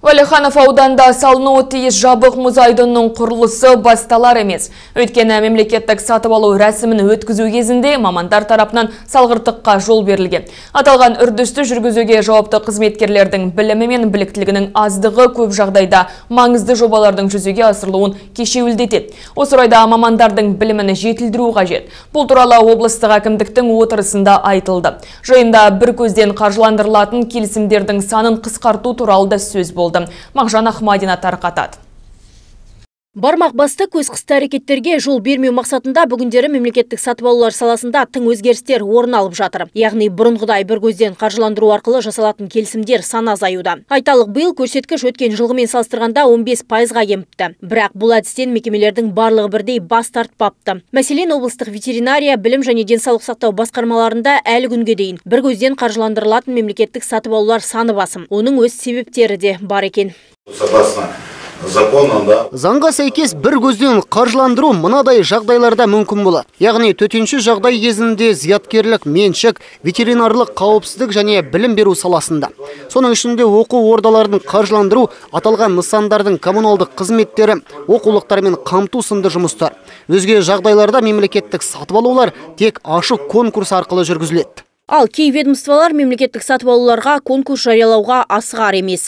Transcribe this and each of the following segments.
Уәлиханов ауданында салынуы тиіс жабық мұз айдынының құрылысы басталар емес. Өйткені мемлекеттік сатып алу рәсімін өткізу кезінде мамандар тарапынан салғырттыққа жол берілген. Аталған үрдісті жүргізуге жауапты қызметкерлердің білімі мен біліктілігінің аздығы көп жағдайда маңызды жобалардың жүзеге асырылуын кешеуілдетеді. Осы орайда мамандардың білімін жетілдіру қажет. Бұл туралы облыстық әкімдіктің отырысында айтылды. Жиында бір көзден қаржыландырылатын келісімдердің санын қысқарту туралы да сөз болды. Мағжан Ахмадина тарқатады. Бармақ басты көз қысты әрекеттерге жол бермеу мақсатында бүгіндері мемлекеттік сатып алулар саласында тың өзгерістер орын алып жатыр. Яғни бұрынғыдай бір көзден қаржыландыру арқылы жасалатын келісімдер саны азаюда. Айталық, биыл көрсеткіш өткен жылғымен салыстырғанда 15%-ға кеміпті. Бірақ бұл әдістен мекемелердің барлығы бірдей бас тартпапты. Мәселен, облыстық ветеринария, білім және денсаулық сақтау басқармаларында әлі күнге дейін бір көзден қаржыландырылатын мемлекеттік сатып алулар саны басым. Оның өз себептері де бар екен. Заңға сәйкес бір көзден қаржыландыру мынадай жағдайларда мүмкін болады. Яғни төтенше жағдай кезінде зияткерлік, меншік, ветеринарлық қауіпсіздік және білім беру саласында. Соның ішінде оқу ордаларын қаржыландыру, аталған нысандардың коммуналдық қызметтері, оқулықтармен қамту сынды жұмыстар. Өзге жағдайларда мемлекеттік сатып алулар тек ашық конкурс арқылы жүргізіледі. Ал кей ведомстволар мемлекеттік сатып алуларға конкурс жариялауға асығар емес.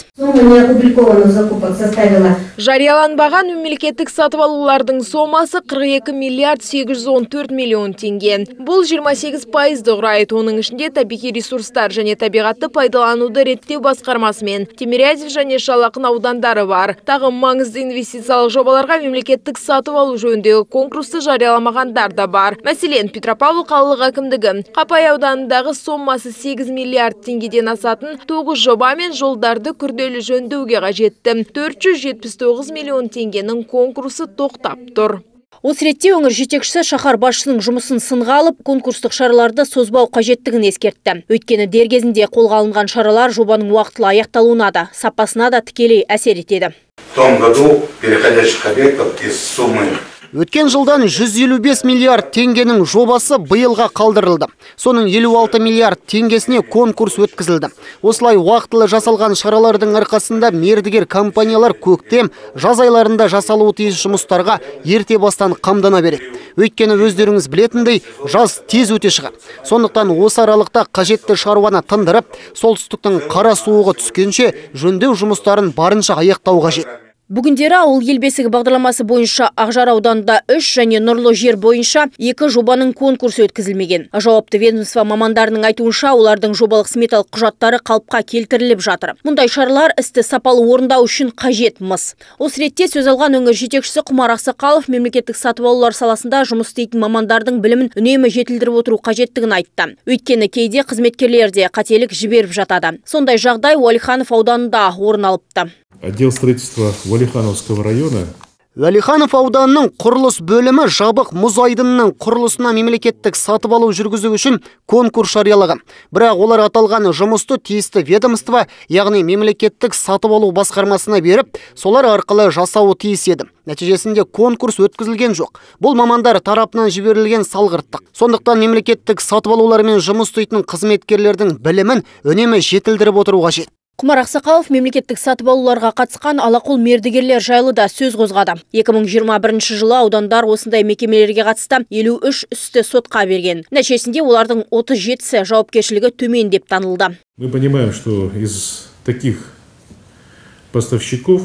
Жарияланбаған мемлекеттік сатып алулардың сомасы 42 миллиард 814 миллион теңге. Бұл 28%-ды құрайды. Оның ішінде табиғи ресурстар және табиғатты пайдалануды реттеу басқармасы мен Тимирязев және Шалақын аудандары бар. Тағы маңызды инвестициялық жобаларға мемлекеттік сатып алу жөніндегі конкурсты жарияламағандар да бар. Мәселен, Петропавл қалалық әкімдігі Қапай ауданындағы сомасы 8 миллиард теңгеден асатын 9 жоба мен жолдарды күрделі жөндеуге қажетті 479 миллион теңгенің конкурсы тоқтап тұр. Осы ретте өңір жетекшісі шаһар басшысының жұмысын сынға алып, конкурстық шараларды созбау қажеттігін ескертті. Өйткені дер кезінде қолға алынған шаралар жобаның уақытылы аяқталуына да, сапасына да тікелей әсер етеді. В том году переходящих объектов из суммы Өткен жылдан 155 миллиард теңгенің жобасы биылға қалдырылды. Соның 56 миллиард теңгесіне конкурс өткізілді. Осылай уақытылы жасалған шаралардың арқасында мердігер компаниялар көктем, жаз айларында жасалуы тиіс жұмыстарға ерте бастан қамдана береді. Өйткені өздеріңіз білетіндей, жаз тез өте шығады. Сондықтан осы аралықта қажетті шаруаны тындырып, солтүстіктің қара суығы түскенше жөндеу жұмыстарын барынша аяқтау қажет. Бүгіндері ауыл ел бесігі бағдарламасы бойынша Ақжар ауданында 3 және Нұрлы жер бойынша 2 жобаның конкурсы өткізілмеген. Жауапты ведомство мамандарының айтуынша, олардың жобалық сметалық құжаттары қалыпқа келтіріліп жатыр. Мұндай шаралар істі сапалы орындау үшін қажет мыс. Осы ретте сөз алған өңір жетекшісі Құмар Ақсақалов мемлекеттік сатып алулар саласында жұмыс істейтін мамандардың білімін үнемі жетілдіріп отыру қажеттігін айтты. Өйткені кейде қызметкерлер де қателік жіберіп жатады. Сондай жағдай Уәлиханов ауданында орын алыпты. Отдел строительства Уәлихановского района. Уәлиханов ауданының құрылыс бөлімі жабық мұз айдынының құрылысына мемлекеттік сатып алу жүргізу үшін конкурс жариялаған. Бірақ олар аталған жұмысты тиісті ведомство, яғни мемлекеттік сатып алу басқармасына беріп, солар арқылы жасауы тиіс еді. Нәтижесінде конкурс өткізілген жоқ. Бұл мамандар тарапынан жіберілген салғырттық. Сондықтан мемлекеттік сатып алулармен жұмыс істейтін қызметкерлердің білімін үнемі жетілдіріп отыру қажет. Құмар Ақсақалов мемлекеттік сатып алуларға қатысқан алақол мердігерлер жайлы да сөз қозғады. 2021 жылы аудандар осындай мекемелерге қатысты 53 істі сотқа берген. Нәтижесінде олардың 37-сі жауапкершілігі төмен деп танылды. Мы понимаем, что из таких поставщиков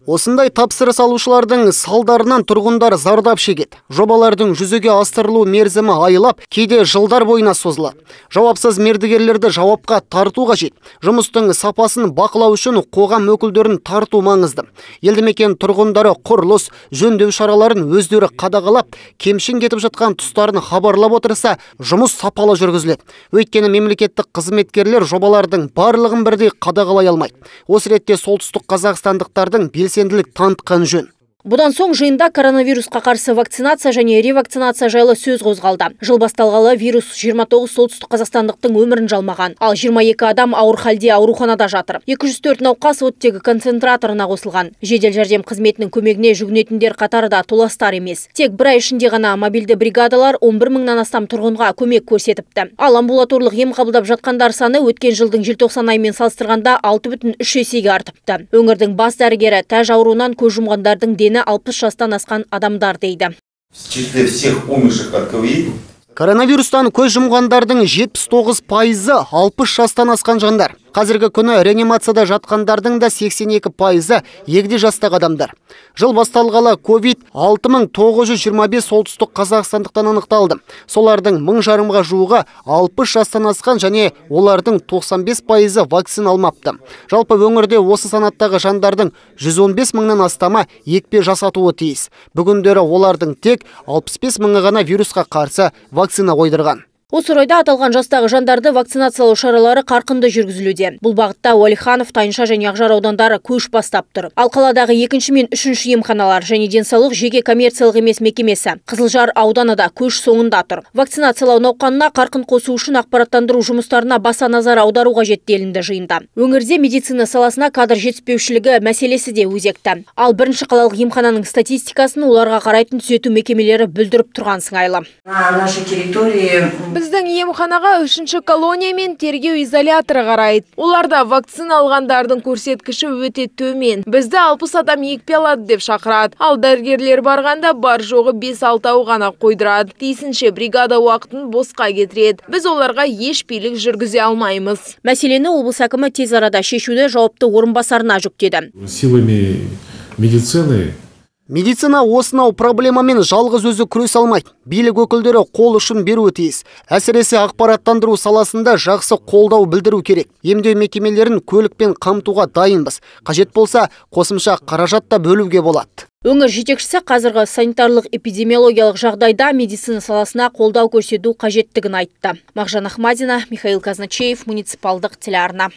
Осындай тапсырыс алушылардың салдарынан тұрғындар зардап шегеді. Жобалардың жүзеге асырылу мерзімі айлап, кейде жылдар бойына созылады. Жауапсыз мердігерлерді жауапқа тарту қажет. Жұмыстың сапасын бақылау үшін қоғам өкілдерін тарту маңызды. Елді мекен тұрғындары құрылыс, жөндеу шараларын өздері қадағалап, кемшін кетіп жатқан тұстарын хабарлап отырса, жұмыс сапалы жүргізіледі. Өйткені мемлекеттік қызметкерлер жобалардың барлығын бірдей қадағалай алмайды. Осы ретте солтүстік қазақстандықтардың белсенділік танытқан жөн. Бұдан соң жиында коронавирусқа қарсы вакцинация және ревакцинация жайлы сөз қозғалды. Жыл басталғалы вирус 29 солтүстік қазақстандықтың өмірін жалмаған, ал 22 адам ауыр халде ауруханада жатыр. 204 науқас оттегі концентраторына қосылған. Жедел жәрдем қызметінің көмегіне жүгінетіндер қатары да толастар емес. Тек бір ай ішінде ғана мобильді бригадалар 11 мыңнан астам тұрғынға көмек көрсетіпті. Ал амбулаторлық ем қабылдап жатқандар саны өткен жылдың желтоқсан айымен салыстырғанда 6,3 есеге артыпты. Өңірдің бас дәрігері тәж ауруынан көз жұмғандардың дені 60 жастан асқан адамдар дейді. В числе всех умерших от ковид Коронавирустан көз жұмғандардың 79%-ы 60 жастан асқан жандар. Қазіргі күні реанимацияда жатқандардың да 82%-ы егде жастағы адамдар. Жыл басталғалы ковид 6925 солтүстік қазақстандықтан анықталды. Солардың 1000 жуығы 60 жастан асқан және олардың 95%-ы вакцина алмапты. Жалпы өңірде осы санаттағы жандардың 115 мыңнан астамы екпе жасатуы тиіс. Бүгіндері олардың тек 65 мыңы ғана вирусқа қарсы вакцина қойдырған. Осы орайда аталған жастағы жандарды вакцинациялау шаралары қарқынды жүргізілуде. Бұл бағытта Уәлиханов, Тайынша және Ақжар аудандары көш бастап тұр. Ал қаладағы 2 мен 3 емханалар және денсаулық жеке коммерциялық емес мекемесі Қызылжар ауданы да көш соңында тұр. Вакцинациялау науқанына қарқын қосу үшін ақпараттандыру жұмыстарына баса назар аудару қажет делінді жиында. Өңірде медицина саласына кадр жетіспеушілігі мәселесі де өзекті. Ал бірінші қалалық емхананың статистикасын оларға қарайтын түзету мекемелері бүлдіріп тұрған сыңайлы. На нашей территории Біздің емханаға 3-ші колония мен тергеу изоляторы қарайды. Оларда вакцина алғандардың көрсеткіші өте төмен. Бізді 60 адам екпе алады деп шақырады. Ал дәрігерлер барғанда бар жоғы 5-6 ғана қойдырады. Тиісінше бригада уақытын босқа кетіреді. Біз оларға еш билік жүргізе алмаймыз. Мәселені облыс әкімі тез арада шешуді жауапты орынбасарына жүктеді. Силами медицины Медицина осынау проблемамен жалғыз өзі күрес алмайды. Билік өкілдері қол ұшын беруі тиіс. Әсіресе ақпараттандыру саласында жақсы қолдау білдіру керек. Емдеу мекемелерін көлікпен қамтуға дайынбыз. Қажет болса, қосымша қаражат та бөлуге болады. Өңір жетекшісі қазіргі санитарлық эпидемиологиялық жағдайда медицина саласына қолдау көрсету қажеттігін айтты. Мағжан Ахмадина, Михаил Казначеев, муниципалдық телеарна.